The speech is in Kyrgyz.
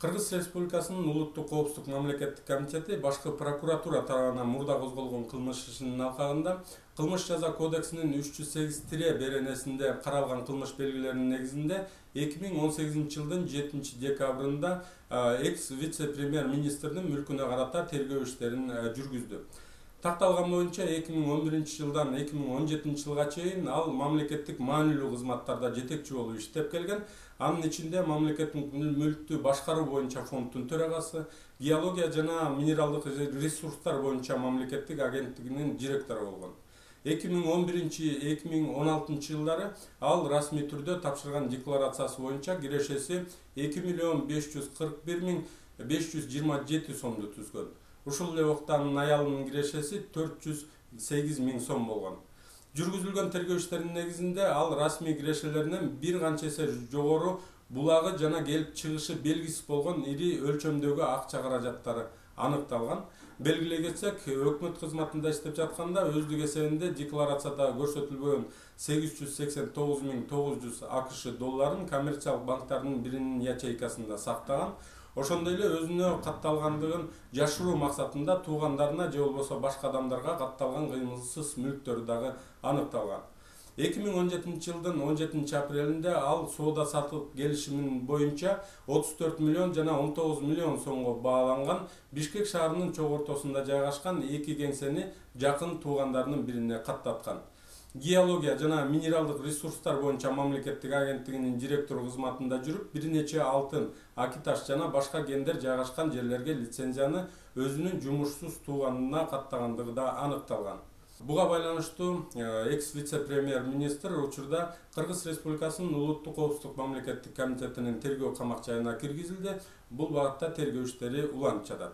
Кыргыз Республикасынын Улуттук коопсуздук мамлекеттик комитети башкы прокуратура тарабынан мурда козголгон кылмыш ишинин алкагында Кылмыш жаза кодексинин 308 беренесинде каралган кылмыш белгилеринин негизинде 2018 жылдын 7 декабрында экс вице-премьер министрдин мүлкүнө карата тергөө иштерин жүргүздү. Такталган боюнча 2011 жылдан 2017 жылга чейин ал мамлекеттик маанилүү кызматтарда жетекчи болуп иштеп келген. Анын ичинде мамлекеттик мүлктү башкаруу боюнча фонддун төрагасы, геология жана минералдык ресурстар боюнча мамлекеттик агенттигинин директору болгон. 2011-2016 жылдары ал расмий түрдө тапшырган декларациясы боюнча кирешеси 2,541,527 сомду түзгөн. Ушул эле убакта анын аялынын кирешеси 408 000 сом болгон. Жүргүзүлгөн тергөө иштеринин негизинде ал расмий кирешелеринен бир канча эсе жогору булагы жана келип чыгышы белгисиз болгон ири өлчөмдөгү акча каражаттары аныкталган. Белгилей кетсек, өкмөт кызматында иштеп жатканда өздүк эсебинде декларацияда көрсөтүлбөгөн 889 900 АКШ долларын коммерциялык банктардын биринин ячейкасында сактаган. Ошондой эле өзүнө катталгандыгын жашыруу максатында туугандарына же болбосо башка адамдарга катталган кыймылсыз мүлктөрү дагы аныкталган. 2017 жылдын 17 апрелинде ал соода сатып келишимин боюнча 34 миллион жана 19 миллион сомго бааланган Бишкек шаарынын чок ортосунда жайгашкан эки кеңсени жакын туугандарынын бирине каттаткан. Геология жана минералдык ресурстар боюнча мамлекеттик агенттигинин директору кызматында жүрүп, бир нече алтын, акиташ жана башка кендер жайгашкан жерлерге лицензияны өзүнүн жумушсуз тууганына каттагандыгы да аныкталган. Буга байланыштуу экс вице-премьер министр учурда Кыргыз Республикасынын Улуттук коопсуздук мамлекеттик комитетинин тергөө камак жайына киргизилди. Бул багытта тергөө иштери уланып жатат.